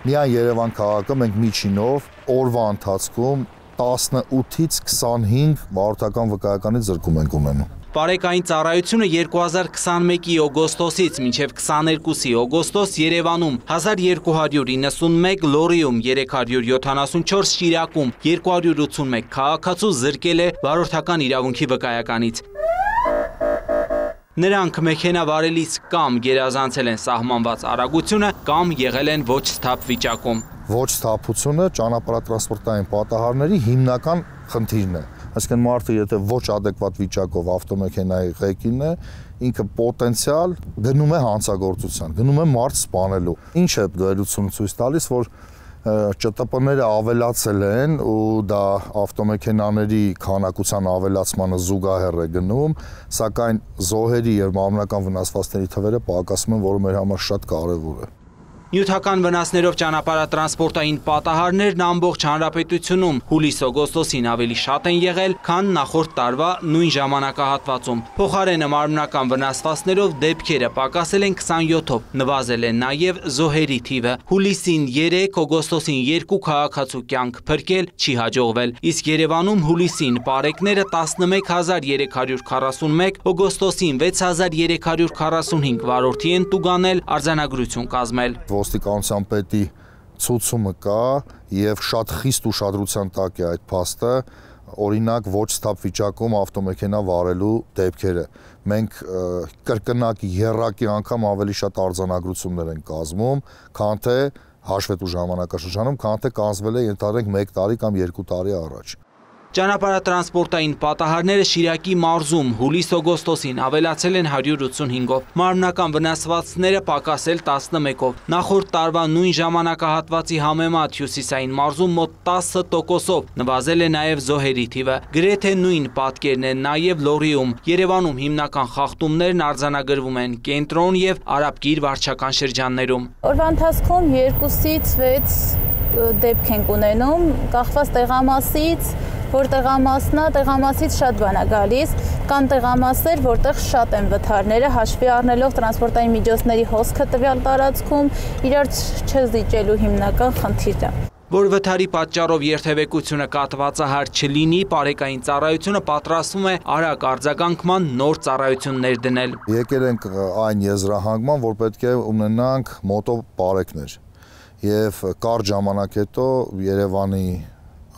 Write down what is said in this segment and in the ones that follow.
Միայն Երևան քաղաքը մենք միջինով օրվա ընթացքում 18-ից 25 վարորդական վկայականից զրկում ենք ունենում։ Պարեկային ծառայությունը 2021-ի օգոստոսից մինչև 22-ի օգոստոս Երևանում 1291 լորիում, 374 շիրակում, 281 քաղաքացու զրկել է վարորդական իրավունքի վկայականից։ Նրանք մեքենա վարելիս կամ գերազանցել են սահմանված արագությունը, կամ եղել են ոչ սթափ վիճակում։ Ոչ սթափությունը ճանապարհատրանսպորտային պատահարների հիմնական խնդիրն է։ Այսինքն մարդը եթե ոչ ադեկվատ վիճակով ավտոմեքենայի ղեկին է, ինքը պոտենցիալ գնում է հանցագործության, գնում է մարդ սպանելու։ Ինչ է վերլուծությունը ցույց տալիս, որ ՃՏՊ-ները ավելացել են ու դա ավտոմեքենաների քանակության ավելացմանը զուգահեռ է գնում, սակայն զոհերի եւ մարմնական վնասվածքների թվերը պակասում են, որը մեր համար շատ կարեւոր է։ Նյութական վնասներով ճանապարհատրանսպորտային պատահարներն ամբողջ հանրապետությունում հուլիս-օգոստոսին ավելի շատ են եղել, քան նախորդ տարվա նույն ժամանակահատվածում։ Փոխարենը մարմնական վնասվածքներով դեպքերը պակասել են 27-ով, նվազել է նաև զոհերի թիվը։ Հուլիսին 3, օգոստոսին 2 քաղաքացու կյանք փրկել չի հաջողվել, իսկ Երևանում հուլիսին պարեկները 11341, օգոստոսին 6345 վարորդի են տուգանել, արձանագրություն կազմել։ Ոստիկանության պետի ցուցումը կա եւ շատ խիստ ուշադրության տակ է այդ փաստը, օրինակ ոչ սթափ վիճակում ավտոմեքենա վարելու դեպքերը։ Մենք կրկնակ եռակի անգամ ավելի շատ արձանագրություններ են կազմում, քան թե հաշվետու ժամանակաշրջանում, քան թե կանցվել է ենթադրենք 1 տարի կամ 2 տարի առաջ։ Ճանապարհատրանսպորտային պատահարները Շիրակի մարզում հուլիս-օգոստոսին ավելացել են 185-ով, մարմնական վնասվածքները պակասել 11-ով։ Նախորդ տարվա նույն ժամանակահատվածի համեմատ հյուսիսային մարզում մոտ 10%-ով նվազել է նաև զոհերի թիվը։ Գրեթե նույն պատկերն է նաև Լորիում։ Երևանում հիմնական խախտումներն արձանագրվում են Կենտրոն եւ Արաբկիր վարչական շրջաններում։ Օրվա ընթացքում 2-ից 6 դեպք ենք ունենում, կախված տեղամասից, որ տեղամասից շատ բան է գալիս, կան տեղամասեր, որտեղ շատ են վթարները, հաշվի առնելով տրանսպորտային միջոցների հոսքը տվյալ տարածքում, իրար չզիջելու հիմնական խնդիրը։ Որ վթարի պատճառով երթևեկությունը կատվածահար չլինի, պարեկային ծառայությունը պատրաստվում է արագ արձագանքման նոր ծառայություններ դնել։ Եկել ենք այն եզրահանգման, որ պետք է ունենանք մոտո պարեկներ։ Եվ կարճ ժամանակ հետո Երևանի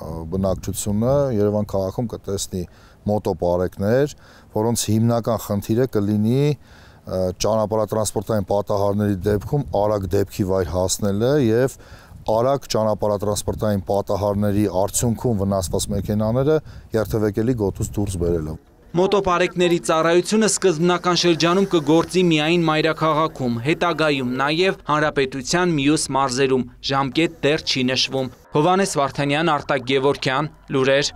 բնակչությունը Երևան քաղաքում կտեսնի մոտո պարեկներ, որոնց հիմնական խնդիրը կլինի ճանապարհատրանսպորտային պատահարների դեպքում արագ դեպքի վայր հասնելը եւ արագ ճանապարհատրանսպորտային պատահարների արդյունքում վնասված մեքենաները երթևեկելի գոտուց դուրս բերելը։ Մոտոպարեկների ծառայությունը սկզբնական շրջանում կգործի միայն մայրաքաղաքում, հետագայում նաև հանրապետության մյուս մարզերում, ժամկետ դեռ չի նշվում։ Հովհաննես Վարդանյան, Արտակ Գևորգյան, լուրեր։